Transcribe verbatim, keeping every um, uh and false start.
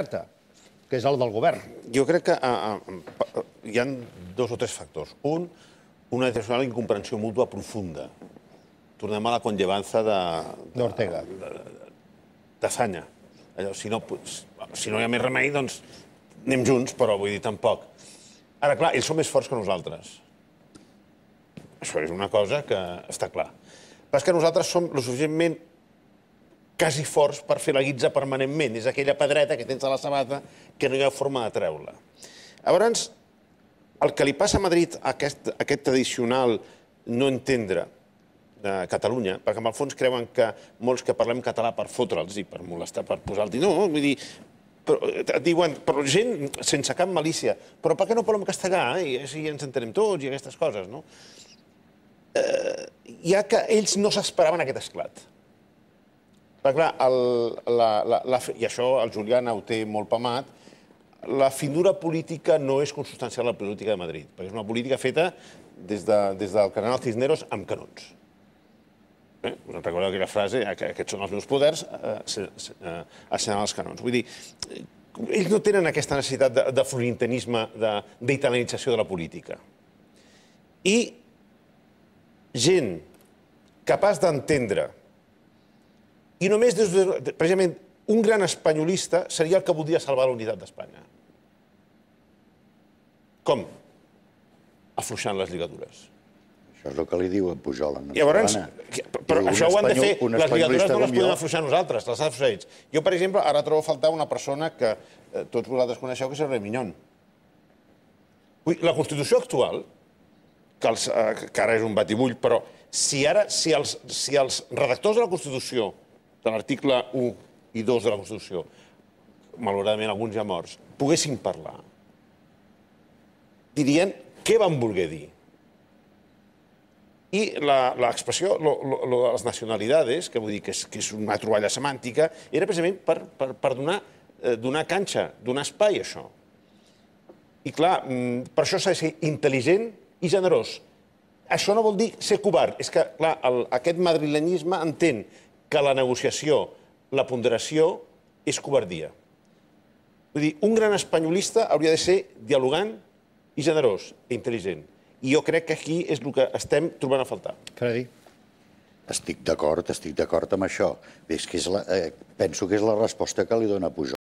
que és el del govern. Jo crec que hi ha dos o tres factors. Un, una tradicional incomprensió mútua profunda. Tornem a la conllevança de... D'Ortega. D'Azanya. Si no hi ha més remei, doncs anem junts, però vull dir, tampoc. Ara, clar, ells són més forts que nosaltres. Això és una cosa que està clar. Però és que nosaltres som lo suficientment quasi forts per fer la guitza permanentment. És aquella pedreta que tens a la sabata que no hi ha forma de treure-la. Llavors, el que li passa a Madrid, aquest tradicional no entendre de Catalunya, perquè en el fons creuen que molts que parlem català per fotre'ls i per molestar, per posar-los... No, vull dir, et diuen, però gent sense cap malícia, però per què no parlem castellà? I així ens entenem tots i aquestes coses, no? Hi ha que ells no s'esperaven aquest esclat. Perquè, clar, i això el Julián ho té molt pamat, la finura política no és consubstancial a la política de Madrid, perquè és una política feta des del cardenal Cisneros amb canons. Us en recordeu aquella frase, aquests són els meus poders, assenyalant els canons. Vull dir, ells no tenen aquesta necessitat de florintanisme, d'italianització de la política. I gent capaç d'entendre, i només, precisament, un gran espanyolista seria el que voldria salvar la unitat d'Espanya. Com? Afluixant les lligadures. Això és el que li diu a Pujol. Llavors, però això ho han de fer, les lligadures no les podem afluixar nosaltres, les ha de fer ells. Jo, per exemple, ara trobo a faltar una persona que tots vosaltres coneixeu, que és el Rei Minyón. La Constitució actual, que ara és un batibull, però si ara, si els redactors de la Constitució, de l'article u i dos de la Constitució, malauradament alguns ja morts, poguessin parlar, dirien què van voler dir. I l'expressió de les nacionalidades, que vull dir que és una troballa semàntica, era precisament per donar canxa, donar espai a això. I clar, per això s'ha de ser intel·ligent i generós. Això no vol dir ser covard. És que, clar, aquest madrilenyisme entén que la negociació, la ponderació, és covardia. Vull dir, un gran espanyolista hauria de ser dialogant i generós i intel·ligent. I jo crec que aquí és el que estem trobant a faltar. Fredi? Estic d'acord, estic d'acord amb això. Penso que és la resposta que li dona Pujol.